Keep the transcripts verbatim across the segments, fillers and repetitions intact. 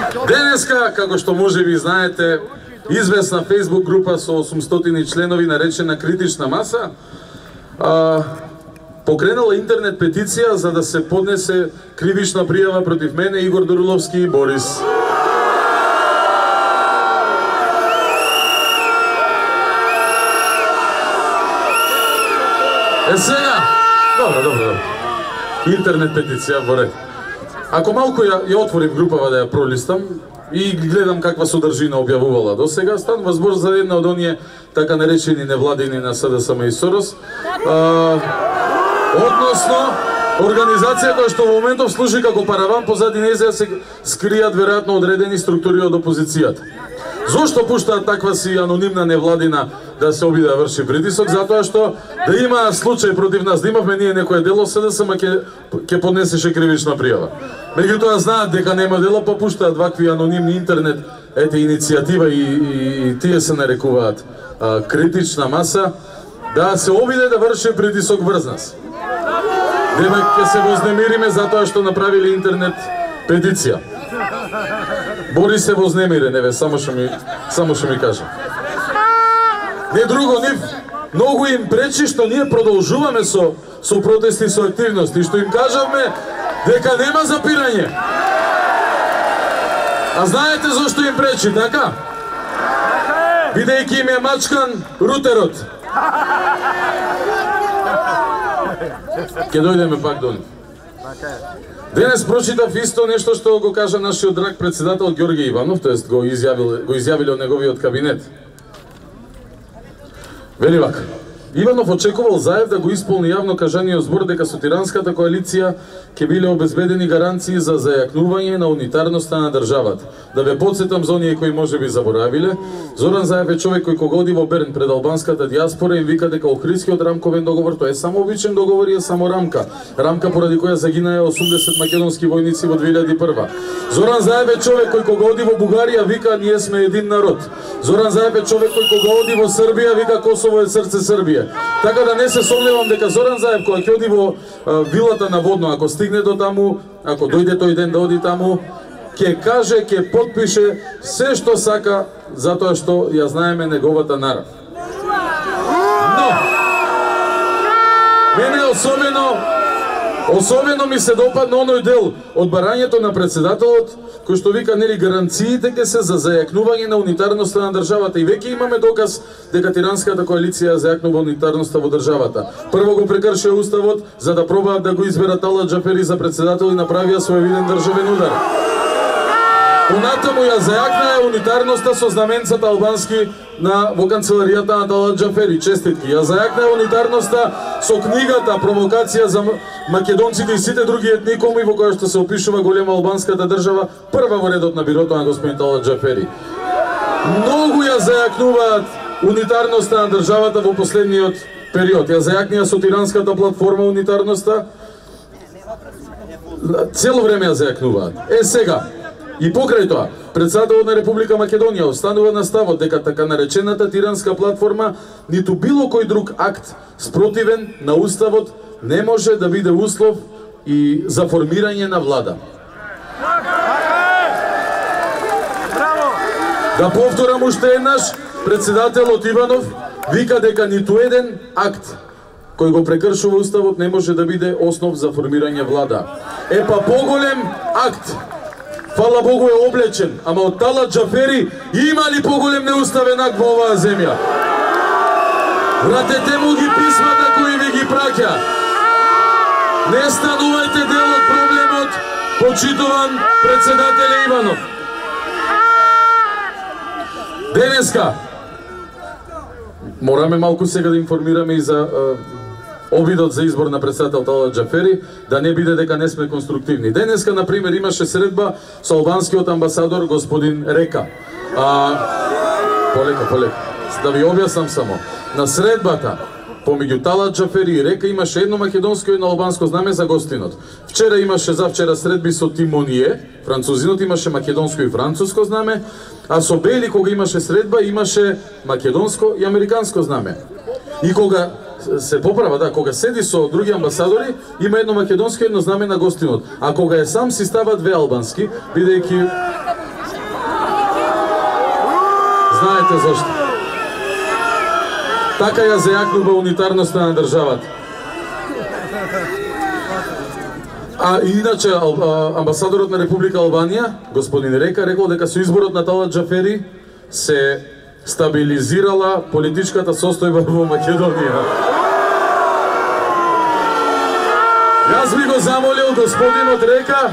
Денеска, како што можеби знаете, известна Facebook група со осумстотини членови наречена Критична маса а, покренала интернет петиција за да се поднесе кривична пријава против мене, Игор Дуруловски и Борис. Е сега, добро, добро, добро. Интернет петиција во ред. Ако малку ја, ја отворив групава да ја пролистам и гледам каква содржина објавувала до сега, станува збор за една од оние така наречени невладини на СДСМ и СОРОС, а, односно организација која што во моментов служи како параван позади неја се скријат веројатно одредени структури од опозицијата. Зошто пуштаат таква си анонимна невладина да се обиде да врши притисок? Затоа што да има случај против нас, да имавме ние некое дело, СДСМ ќе ќе поднесеше кривична пријава. Меѓутоа знаат дека нема дело, па пуштаат вакви анонимни интернет, ете иницијатива и, и, и тие се нарекуваат а, Критична маса, да се обиде да врши притисок врз нас. Дека ќе се вознемириме затоа што направиле интернет петиција. Борис се вознемирен, еве, само што ми, само што ми кажа. Не друго, нив многу им пречи што ние продолжуваме со, со протести, со активности, што им кажавме дека нема запирање. А знаете зошто им пречи, така? Бидејќи им е мачкан рутерот. Ке дојдеме пак до нив. Денес прочитав исто нешто што го кажа нашиот драг председател Ѓорѓе Иванов, тоест го изјавил, го изјавиле од неговиот кабинет. Вели вака: Иванов очекувал Заев да го исполни јавно кажаниот збор дека со тиранската коалиција ќе биле обезбедени гаранции за зајакнување на унитарноста на државата. Да ве потсетам за оние кои можеби заборавиле, Зоран Заев е човек кој кога оди во Берн пред албанската дијаспора им вика дека Охридскиот рамковен договор тоа е само обичен договор и е само рамка. Рамка поради која загинаа осумдесет македонски војници во две илјади и прва. Зоран Заев е човек кој кога оди во Бугарија вика ние сме един народ. Зоран Заев е човек кој кога оди во Србија вика Косово е срце Србија. Така да не се сомневам дека Зоран Заев кога ќе оди во а, вилата на Водно, ако стигне до таму, ако дојде тој ден да оди таму, ќе каже, ќе подпише се што сака, затоа што ја знаеме неговата нарав. Но, мене особено, особено ми се допадна оној дел од барањето на председателот, кој што вика, нели, гаранциите ќе се за зајакнување на унитарноста на државата. И веќе имаме доказ дека тиранската коалиција зајакнува унитарноста во државата. Прво го прекршија уставот за да пробаат да го изберат Талат Џафери за председател и направија свој виден државен удар. Понатаму ја зајакнаа унитарноста со знаменцата албански на во канцеларијата на Талат Џафери. Честитки. Ја зајакнаа унитарноста со книгата Провокација за македонците и сите други етникуми во која што се опишува голема албанската држава, прва во редот на бирото на господин Талат Џафери. Многу ја зајакнуваат унитарноста на државата во последниот период. Ја зајакнија со тиранската платформа унитарноста. Цело време ја зајакнуваат. Е сега, и покрај тоа, председателот на Република Македонија останува на ставот дека така наречената тиранска платформа ниту било кој друг акт спротивен на уставот не може да биде услов и за формирање на влада. Да повторам уште еднаш, председателот Иванов вика дека ниту еден акт кој го прекршува уставот не може да биде основ за формирање влада. Е па поголем акт, фала Богу, е облечен, ама од Талат Џафери има ли поголем неуставен акт во оваа земја? Вратете му ги писмата кои ви ги праќа. Не станувајте дел од проблемот, почитуван председателе Иванов. Денеска мораме малку сега да информираме и за обидот за избор на председател Талат Џафери, да не биде дека не сме конструктивни. Денеска, например, имаше средба со албанскиот амбасадор господин Река. А, полека, полека. Да ви објаснам само. На средбата помеѓу Талат Џафери и Река имаше едно македонско и едно албанско знаме за гостинот. Вчера имаше, завчера средби со Тимоние, французинот имаше македонско и француско знаме, а со Бели кога имаше средба имаше македонско и американско знаме. И кога се поправа, да, кога седи со други амбасадори, има едно македонско и едно знаме на гостинот. А кога е сам си става две албански, бидејќи Знаете зашто. Така ја зајакнува унитарноста на државата. А иначе амбасадорот на Република Албанија, господин Река, рекол дека со изборот на Талат Џафери се стабилизирала политичката состојба во Македонија. Јас би го замолил господинот Река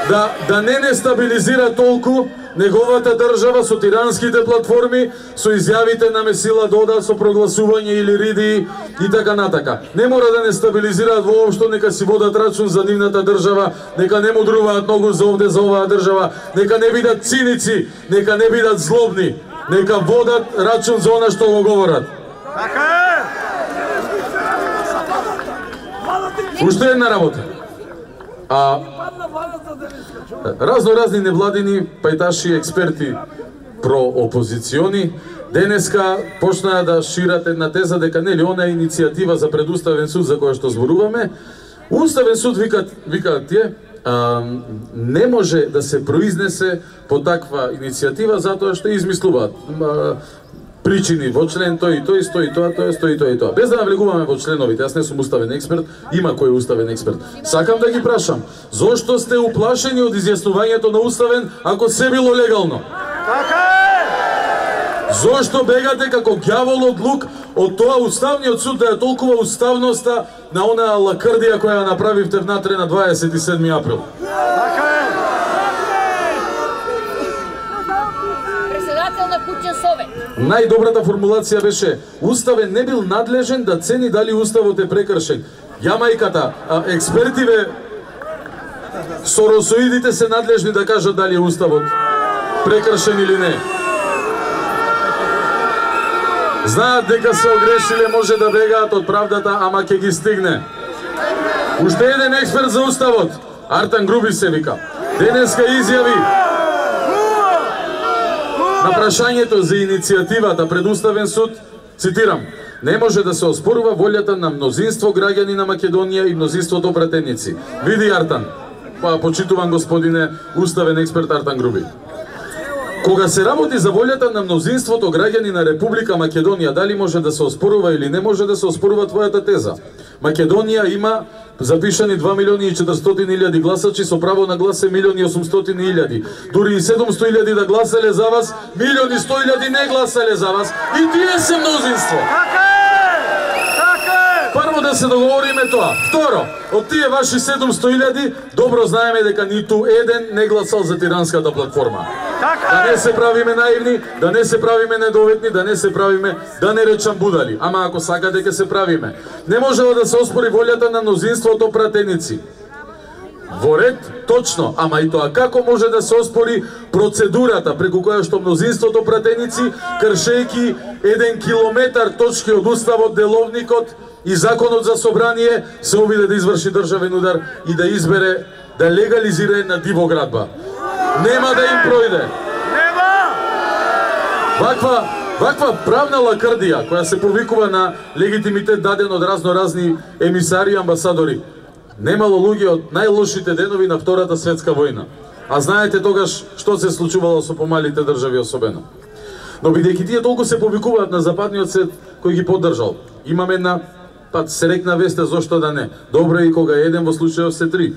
да да не не стабилизира толку неговата држава со тиранските платформи, со изјавите на Месила Дода, со прогласување или риди и така натака. Не мора да не стабилизираат воопшто, нека си водат рачун за нивната држава, нека не мудруваат многу за овде за оваа држава, нека не бидат циници, нека не бидат злобни, нека водат рачун за она што го говорат. Така е! Уште една работа. А разно разни невладини пајташи експерти проопозициони денеска почнаа да шират една теза дека нели она иницијатива за предуставен суд за која што зборуваме, Уставен суд викат викаат тие а, не може да се произнесе по таква иницијатива затоа што измислуваат причини во член тој и тој, стои тоа, тоа, стои тоа и тоа. Без да навлегуваме во членовите, јас не сум уставен експерт, има кој е уставен експерт. Сакам да ги прашам, зошто сте уплашени од изјаснувањето на уставен ако се било легално? Така е! Зошто бегате како ѓавол од лук од тоа уставниот суд да ја толкува уставноста на онаа лакрдија која ја направивте внатре на дваесет и седми април? Така е! Председател на куќен совет. Најдобрата формулација беше уставен не бил надлежен да цени дали уставот е прекршен. Јамајката, експертиве соросоидите се надлежни да кажат дали е уставот прекршен или не. Знаат дека се огрешиле, може да бегаат од правдата, ама ќе ги стигне. Уште еден експерт за уставот, Артан Груби се вика, денеска изјави на прашањето за иницијативата пред Уставен суд, цитирам, не може да се оспорува волјата на мнозинство граѓани на Македонија и мнозинството пратеници. Види Артан, па почитуван господине уставен експерт Артан Груби. Кога се работи за волјата на мнозинството граѓани на Република Македонија, дали може да се оспорува или не може да се оспорува твојата теза? Македонија има запишани два милиони и четиристотини илјади гласачи, со право на глас е милион и осумстотини илјади. Дури и седумсто илјади да гласале за вас, милион и сто илјади не гласале за вас. И тие се мнозинство. Така е! Така е! Прво да се договориме тоа. Второ, од тие ваши седумсто илјади, добро знаеме дека ниту еден не гласал за тиранската платформа. Да не се правиме наивни, да не се правиме недоветни, да не се правиме, да не речам будали. Ама ако сакате ќе се правиме. Не можела да се оспори волјата на мнозинството пратеници. Во ред, точно, ама и тоа како може да се оспори процедурата преку која што мнозинството пратеници, кршејки еден километар точки од уставот, деловникот и законот за собрание, се обиде да изврши државен удар и да избере да легализира една дивоградба. Нема да им пројде. Нема! Ваква, ваква правна лакрдија, која се повикува на легитимитет даден од разноразни емисари и амбасадори, немало луѓе од најлошите денови на Втората светска војна. А знаете тогаш што се случувало со помалите држави особено. Но бидејќи тие толку се повикуваат на западниот свет кој ги поддржал, имаме една пат се рекна веста, зошто да не. Добро е и кога еден, во случајов се три.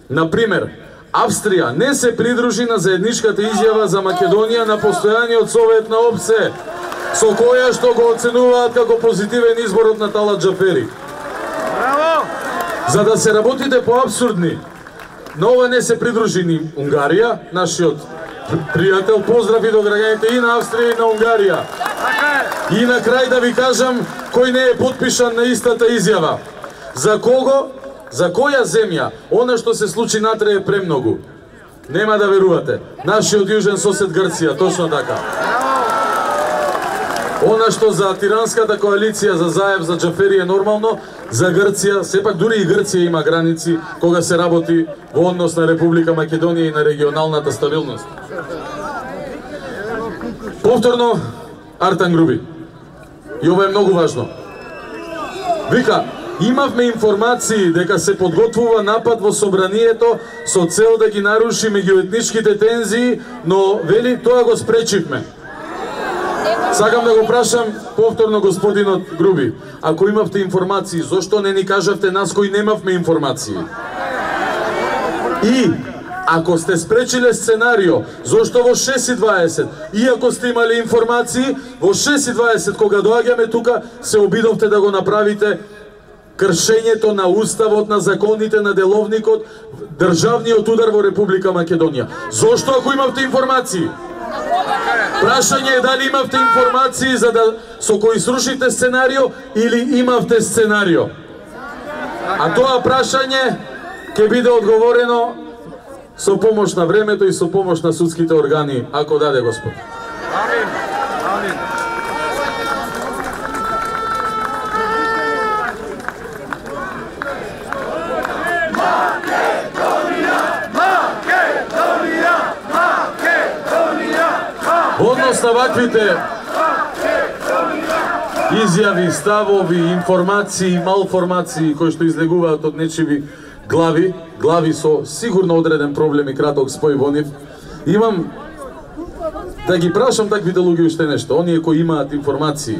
Например, Австрија не се придружи на заедничката изјава за Македонија на постојаниот совет на ОПСЕ, со која што го оценуваат како позитивен изборот на Талат Џафери. Браво! За да се работите поабсурдни, на ова не се придружи ни Унгарија, нашиот пријател, поздрави до граѓаните и на Австрија и на Унгарија. И на крај да ви кажам кој не е потпишан на истата изјава. За кого? За која земја? Она што се случи натре е премногу. Нема да верувате. Нашиот јужен сосед Грција, точно така. Она што за тиранската коалиција, за Заев, за Џафери е нормално, за Грција, сепак дури и Грција има граници кога се работи во однос на Република Македонија и на регионалната стабилност. Повторно, Артан Груби. И ова е многу важно. Вика, имавме информации дека се подготвува напад во собранието со цел да ги наруши меѓуетничките тензии, но вели тоа го спречивме. Сакам да го прашам повторно господинот Груби, ако имавте информации, зошто не ни кажавте нас кои немавме информации? И ако сте спречиле сценарио, зошто во шест и дваесет, иако сте имали информации, во шест и дваесет кога доаѓаме тука, се обидовте да го направите кршењето на уставот, на законите, на деловникот, државниот удар во Република Македонија. Зошто ако имавте информации? Прашање е дали имавте информации за да со кои срушите сценарио или имавте сценарио. А тоа прашање ќе биде одговорено со помош на времето и со помош на судските органи, ако даде Господ. Амин. Амин. Во однос на ваквите изјави, ставови, информации, малформации кои што излегуваат од нечиви глави, глави со сигурно одреден проблем и краток спој во нив, имам да ги прашам таквите луѓе уште нешто, оние кои имаат информации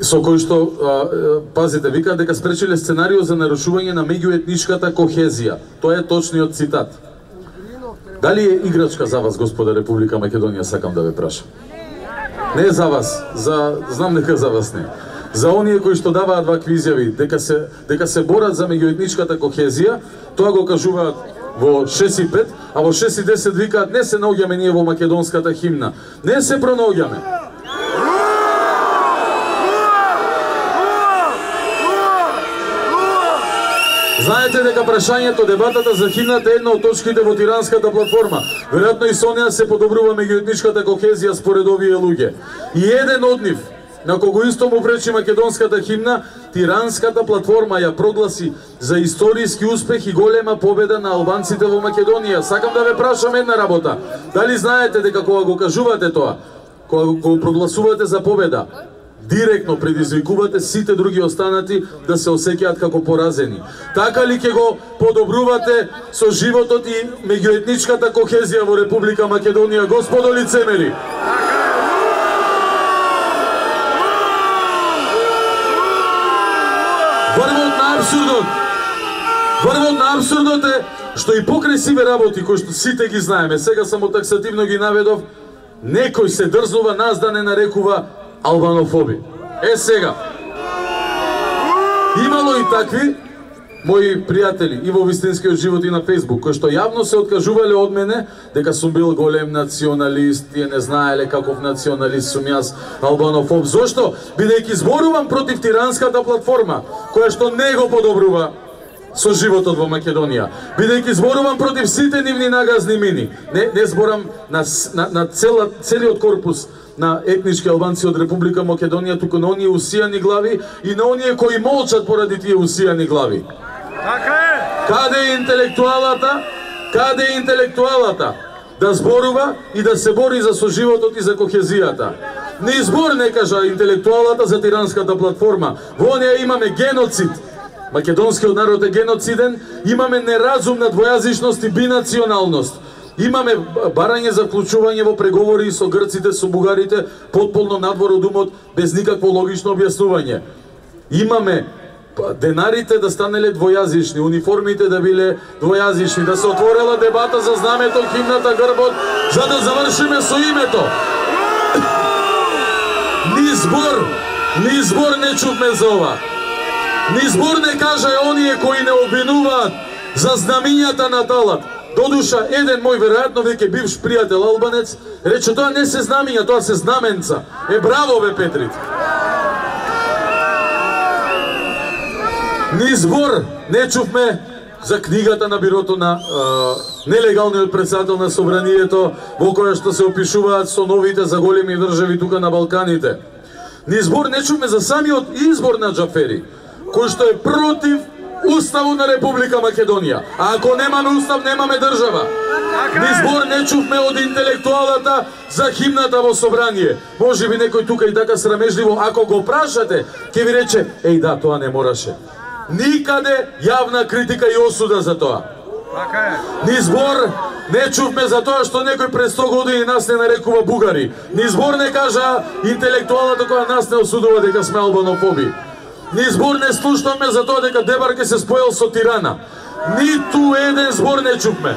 со кои што, а, пазите, викаат дека спречиле сценарио за нарушување на меѓуетничката кохезија. Тоа е точниот цитат. Дали е играчка за вас, господа Република Македонија, сакам да ве прашам? Не за вас, за знам дека за вас не. За оние кои што даваат вакви изјави дека се дека се борат за меѓуетничката кохезија, тоа го кажуваат во шест и пет, а во шест и десет викаат не се наоѓаме ние во македонската химна. Не се пронаоѓаме. Знаете дека прашањето, дебатата за химната е една од точките во Тиранската платформа. Веројатно и со неа се подобрува меѓуетничката кохезија според овие луѓе. И еден од нив, на кого исто му пречи македонската химна, Тиранската платформа ја прогласи за историски успех и голема победа на албанците во Македонија. Сакам да ве прашам една работа. Дали знаете дека кога го кажувате тоа, кога го прогласувате за победа, директно предизвикувате сите други останати да се осеќаат како поразени? Така ли ќе го подобрувате со животот и меѓуетничката кохезија во Република Македонија, господо лицемери? Врвот на абсурдот. Врвот на абсурдот е што и покрај сиве работи кои што сите ги знаеме, сега само таксативно ги наведов, некој се дрзнува нас да не нарекува албанофоби. Е сега, имало и такви мои пријатели и во вистинскиот живот и на Фејсбук, кои што јавно се откажувале од мене дека сум бил голем националист, тие не знаеле каков националист сум јас, албанофоб. Зошто? Бидејќи зборувам против Тиранската платформа, која што не го подобрува со животот во Македонија. Бидејќи зборувам против сите нивни нагазни мини. Не, не зборам на, на, на цела, целиот корпус на етнички албанци од Република Македонија, туку на оние усијани глави и на оние кои молчат поради тие усијани глави. Така е! Каде е интелектуалата? Каде е интелектуалата? Да зборува и да се бори за соживотот и за кохезијата. Ни збор не кажа интелектуалата за Тиранската платформа. Во неја имаме геноцид. Македонскиот народ е геноциден, имаме неразумна двојазичност и бинационалност. Имаме барање за вклучување во преговори со грците, со бугарите, потполно надвор од умот, без никакво логично објаснување. Имаме денарите да станеле двојазични, униформите да биле двојазични, да се отворела дебата за знамето, химната, грбот, за да завршиме со името. Ни збор, ни збор не чувме за ова. Ни збор не кажа оние кои не обвинуваат за знамињата на Талат. Додуша, еден мој веројатно веќе бивш пријател албанец рече тоа не се знамиња, тоа се знаменца. Е, браво бе, Петрит. Ни збор не чувме за книгата на бирото на а, нелегалниот председател на собранието, во која што се опишуваат со новите за големи држави тука на Балканите. Ни збор не чувме за самиот избор на Џафери, кој што е против Уставот на Република Македонија. А ако немаме устав, немаме држава. Ни збор не чувме од интелектуалата за химната во собрание. Може би некој тука и така срамежливо, ако го прашате, ќе ви рече, еј да, тоа не мораше. Никаде јавна критика и осуда за тоа. Ни збор Не чувме за тоа што некој пред сто години нас не нарекува бугари. Ни збор не кажа интелектуалата која нас не осудува дека сме албанофоби. Ни збор не слушнавме за тоа дека Дебарке се споел со Тирана. Ниту еден збор не чувме.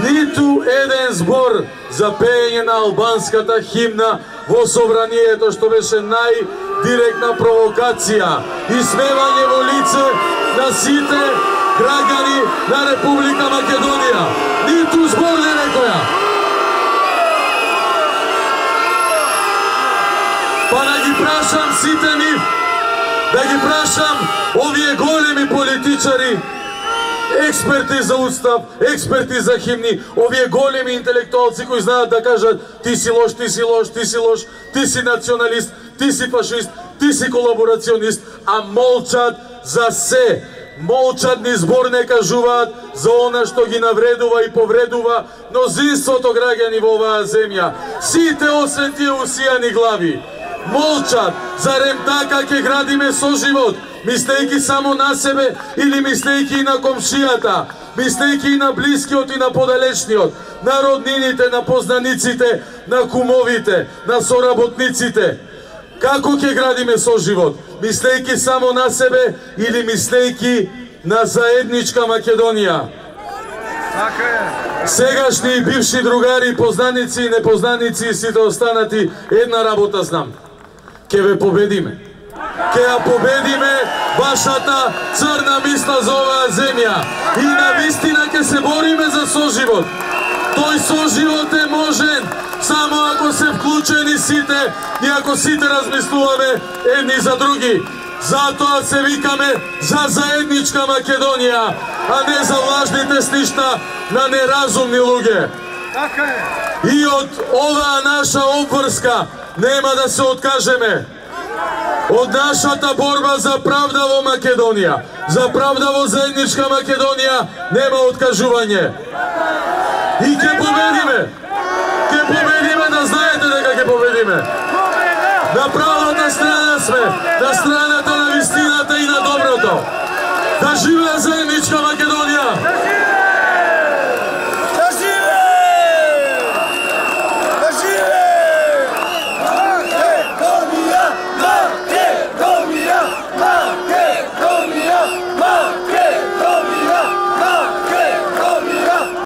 Ниту еден збор за пеење на албанската химна во собранието, што беше најдиректна провокација и смевање во лице на сите граѓани на Република Македонија. Ниту збор не некоја. Па да ги прашам сите нив, да ги прашам овие големи политичари, експерти за устав, експерти за химни, овие големи интелектуалци кои знаат да кажат ти си лош, ти си лош, ти си лош, ти си националист, ти си фашист, ти си колаборационист, а молчат за се. Молчат, ни збор не кажуваат за она што ги навредува и повредува мнозинството граѓани во оваа земја. Сите освен тие усијани глави молчат. Зарем така ќе градиме соживот, мислејќи само на себе или мислејќи и на комшијата, мислејќи и на блискиот и на подалечниот, на роднините, на познаниците, на кумовите, на соработниците? Како ќе градиме соживот? Мислејќи само на себе или мислејќи на заедничка Македонија? Сегашни и бивши другари, познаници и непознаници и сите останати, една работа знам. Ке ве победиме. Ке ја победиме вашата црна мисла за оваа земја. И навистина ке се бориме за соживот. Тој соживот е можен само ако се вклучени сите и ако сите размислуваме едни за други. Затоа се викаме за заедничка Македонија, а не за лажните сништа на неразумни луѓе. И од оваа наша обврска нема да се откажеме. Од нашата борба за правда во Македонија, за правда во заедничка Македонија нема откажување. И ќе победиме. Ќе победиме, да знаете дека ќе победиме. На правата страна сме, на страна